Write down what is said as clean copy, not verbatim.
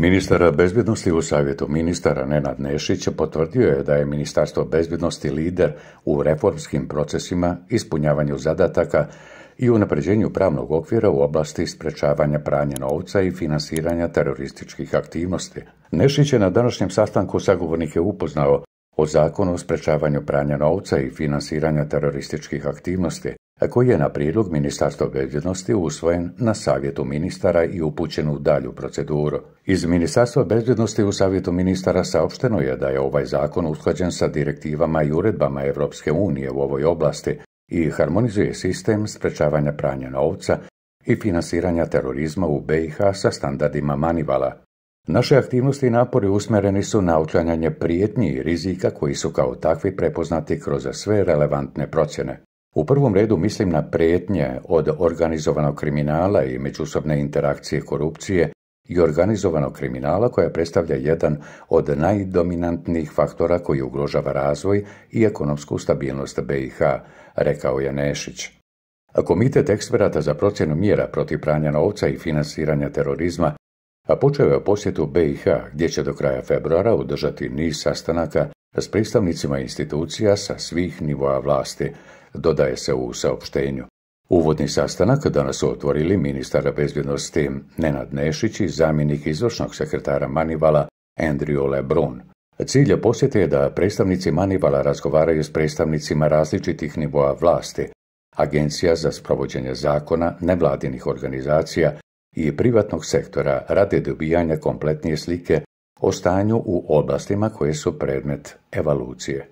Ministar bezbjednosti u Savjetu ministara Nenad Nešić potvrdio je da je Ministarstvo bezbjednosti lider u reformskim procesima, ispunjavanju zadataka i unapređenju pravnog okvira u oblasti sprečavanja pranja novca i finansiranja terorističkih aktivnosti. Nešić je na današnjem sastanku sagovornike upoznao o Zakonu o sprečavanju pranja novca i finansiranja terorističkih aktivnosti, koji je na prijedlog Ministarstva bezbjednosti usvojen na Savjetu ministara i upućen u dalju proceduru. Iz Ministarstva bezbjednosti u Savjetu ministara saopšteno je da je ovaj zakon usklađen sa direktivama i uredbama Europske unije u ovoj oblasti i harmonizuje sistem sprečavanja pranja novca i finansiranja terorizma u BiH sa standardima Manivala. Naše aktivnosti i napori usmjereni su na uklanjanje prijetnji i rizika koji su kao takvi prepoznati kroz sve relevantne procjene. U prvom redu mislim na prijetnje od organizovanog kriminala i međusobne interakcije korupcije i organizovanog kriminala koja predstavlja jedan od najdominantnijih faktora koji ugrožava razvoj i ekonomsku stabilnost BiH, rekao je Nešić. Komitet eksperata za procjenu mjera protiv pranja novca i finansiranja terorizma počeo je posjetu BiH gdje će do kraja februara održati niz sastanaka s predstavnicima institucija sa svih nivoa vlasti, dodaje se u saopštenju. Uvodni sastanak danas su otvorili ministar bezbjednosti Nenad Nešić i zamjenik izvršnog sekretara Manivala Andrew LeBrun. Cilj posjete je da predstavnici Manivala razgovaraju s predstavnicima različitih nivoa vlasti, agencija za sprovođenje zakona, nevladinih organizacija i privatnog sektora radi dobijanja kompletnije slike o stanju u oblastima koje su predmet evalucije.